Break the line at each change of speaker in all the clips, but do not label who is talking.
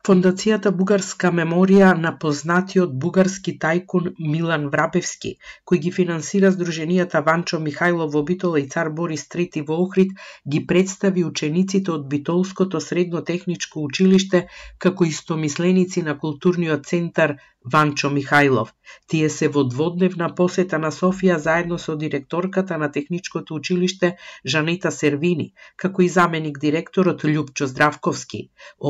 Фондацијата Бугарска меморија на познатиот бугарски тајкун Милан Врабевски, кој ги финансира здруженијата Ванчо Михајлов во Битола и Цар Борис III во Охрид, ги представи учениците од Битолското средно техничко училиште како истомисленици на културниот центар Ванчо Михајлов. Тие се во дводневна посета на Софија заедно со директорката на техничкото училиште Жанета Сервини, како и заменик директорот Љупчо Здравковски.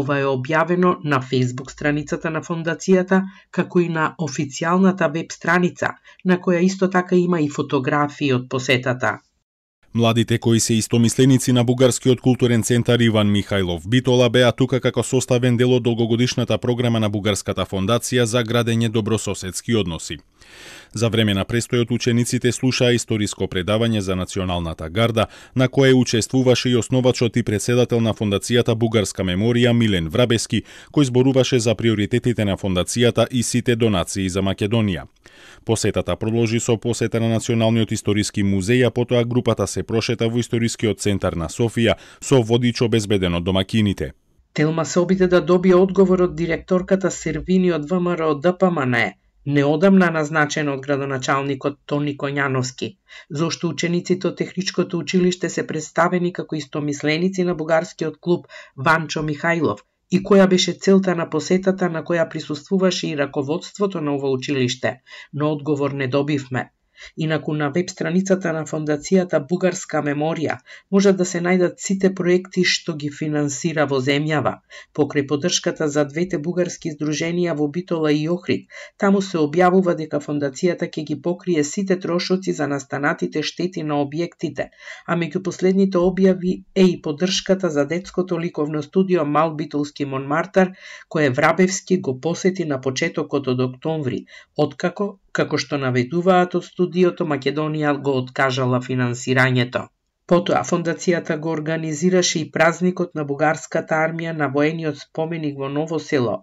Ова е објавено на Facebook страницата на фондацијата, како и на официјалната веб страница, на која исто така има и фотографии од посетата.
Младите кои се истомисленици на Бугарскиот културен центар Иван Михајлов Битола беа тука како составен дел од долгогодишната програма на Бугарската фондација за градење добрососедски односи. За време на престојот учениците слушаа историско предавање за националната гарда, на кое учествуваше и основачот и председател на фондацијата Бугарска меморија Милен Врабевски, кој зборуваше за приоритетите на фондацијата и сите донации за Македонија. Посетата продолжи со посета на Националниот историски музеј, а потоа групата се прошета во историскиот центар на Софија со водич обезбеден од домакините.
Телма се обиде да добие одговор од директорката Сервини од ВМРО ДПМН, неодамна назначен од градоначалникот Тони Коњановски, зошто учениците од техничкото училиште се представени како истомисленици на бугарскиот клуб Ванчо Михајлов и која беше целта на посетата на која присуствуваше и раководството на ова училиште, но одговор не добивме. Инаку на веб страницата на фондацијата Бугарска меморија можат да се најдат сите проекти што ги финансира во земјава. Покрај поддршката за двете бугарски здруженија во Битола и Охрид, таму се објавува дека фондацијата ќе ги покрие сите трошоци за настанатите штети на објектите, а меѓу последните објави е и поддршката за детското ликовно студио Мал Битолски Монмартар, кое Врабевски го посети на почетокот од октомври, откако, како што наведуваат од студиото, Македонија го откажала финансирањето. Потоа, фондацијата го организираше и празникот на бугарската армија на воениот споменик во Ново село,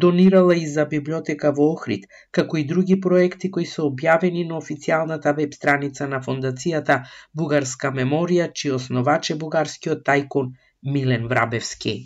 донирала и за библиотека во Охрид, како и други проекти кои се објавени на официјалната веб страница на фондацијата Бугарска меморија, чиј основач е бугарскиот тајкун Милен Врабевски.